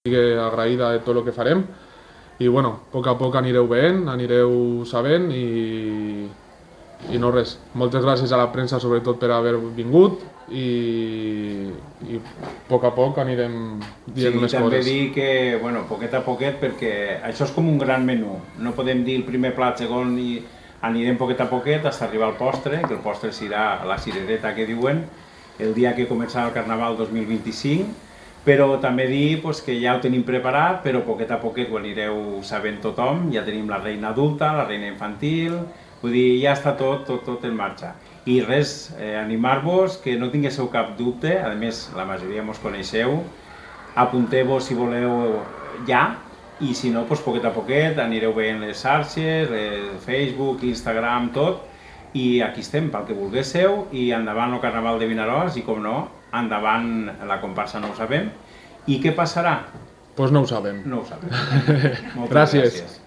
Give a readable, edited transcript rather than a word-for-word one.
estic agraïda de tot el que farem i bueno, a poc a poc anireu veient, anireu sabent i no res. Moltes gràcies a la premsa sobretot per haver vingut i a poc anirem dient més també coses. dir que, bueno, poquet a poquet, perquè això és com un gran menú. No podem dir el primer plat, segon, i anirem poquet a poquet fins a arribar al postre, que el postre serà la cirereta que diuen, el dia que començarà el Carnaval 2025, però també dir que ja ho tenim preparat, però poquet a poquet ho anireu sabent tothom, ja tenim la reina adulta, la reina infantil, vull dir, ja està tot en marxa. I res, animar-vos, que no tinguéssiu cap dubte, a més la majoria mos coneixeu, apunteu-vos si voleu ja, i si no, poquet a poquet anireu veient les xarxes, Facebook, Instagram, tot, i aquí estem, pel que volguéssiu, i endavant el Carnaval de Vinaròs, i com no, endavant la comparsa No ho sabem. I què passarà? Pues no ho sabem. No ho sabem. Gràcies.